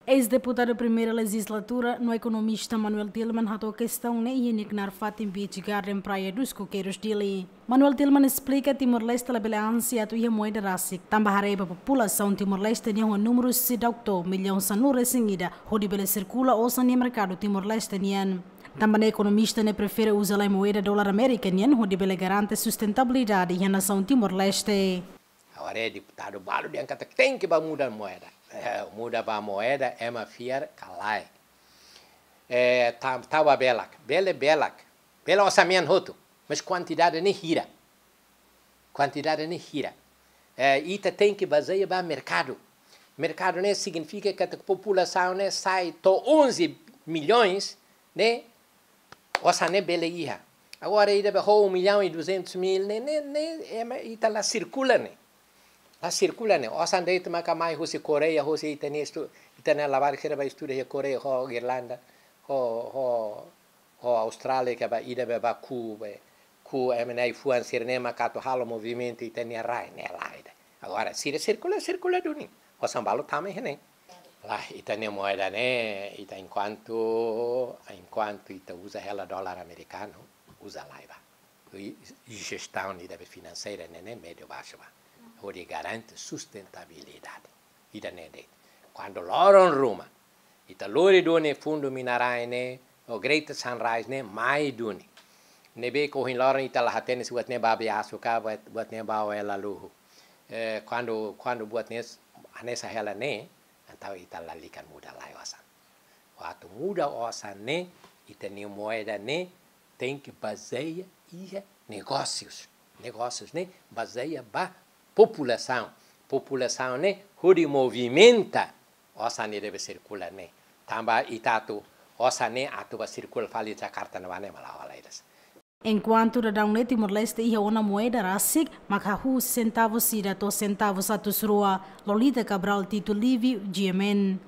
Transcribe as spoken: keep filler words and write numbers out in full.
Eis-deputadu primeira lejizlatura no ekonomista Manuel Tilman hato'o kestaun ne'e iha nia knaar fatin Beach Garden, Praia dos Coqueiros, Dili. Manuel Tilman esplika Timor-Leste labele ansi atu iha moeda rasik, tanba haree ba populasaun Timor-Leste nian ho númeru seidauk to'o millaun sanulu-resin-ida hodi bele sirkula osan iha merkadu Timor-Leste nian. Tanba ne'e ekonomista ne'e prefere uza lai moeda dolar Amérika nian hodi bele garante sustentabilidade iha nasaun Timor-Leste. Agora é deputadu balu dehan katak tenke ba muda moeda. Eh, muda ba moeda ema fiar ka lae. Eh, ta, tau ba belak, bele belak, bele osan mean hotu, mas kuantidade ne'e hira. Kuantidade ne'e hira. Eh, ita tenke bazeia ba merkadu. Merkadu ne'e signifika katak populasaun ne'e sai to'o onze milhões ne'e, osan ne'e bele iha. Agora ida be ho um milhão e duzentos mil ne'e, ne'e, ne'e, ema, ita la sirkula ne'e. La sirkula ne'e. Osan de'it maka mai husi Koreia, husi ita-nia estu-, ita-nia labarik sira ba estuda iha Koreia, ho Irlanda, ho, ho, ho Austrália, ka ba ida be ba ku, be, ku ema nia ai-fuan sira-ne'e maka atu halo movimentu ita-nia rai ne'e lae ida. Agora, sira sirkula, sirkula duni. Osan balu tama iha ne'e. Lae, ita-nia moeda ne'e, ita enkuantu, enkuantu ita uza hela dolar amerikanu, uza lai ba. I, i jestaun ida be finanseira ne'e, ne'e médiu baixu ba. Hodi garante sustentabilidade. Ida-ne'e de'it. Kuandu loron ruma, ita lori duni fundu mina-rai ne'e, o Greater Sunrise ne'e, mai duni. Ne'ebé ke ohin loron ita la hatene se buat ne'e ba biasu ka, buat, buat ne'e ba hela luhu. Eh, kuandu, kuandu buat ne'e s-, hanesan hela ne'e, entaun ita lalika muda lai osan. Atu muda osan ne'e, ita-nia moeda ne'e, tenke bazeia iha negósius. Negósius ne'e, bazeia ba populasaun. Populasaun ne'e, hodi movimenta osan ne'e deve sirkula ne'e. Tanba ita atu, osan ne'e atu ba sirkula fali Jakarta ne'ebá ne'e mak la hola ida. Enkuantu daudaun ne'e Timor-Leste iha ona moeda rasik, mak hahú sentavus ida to'o sentavus atus rua. Lolita Cabral, Tito Livio, G M N.